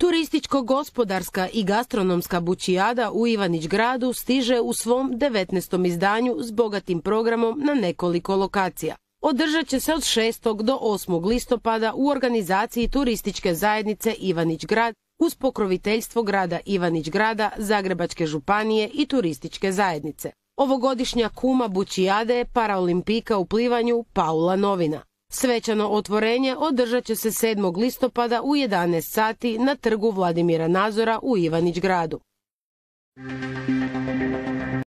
Turističko-gospodarska i gastronomska bučijada u Ivanić Gradu stiže u svom 19. izdanju s bogatim programom na nekoliko lokacija. Održat će se od 6. do 8. listopada u organizaciji Turističke zajednice Ivanić Grad uz pokroviteljstvo grada Ivanić Grada, Zagrebačke županije i Turističke zajednice. Ovogodišnja kuma bučijade je paraolimpijka u plivanju Paula Novina. Svečano otvorenje održat će se 7. listopada u 11 sati na trgu Vladimira Nazora u Ivanić Gradu.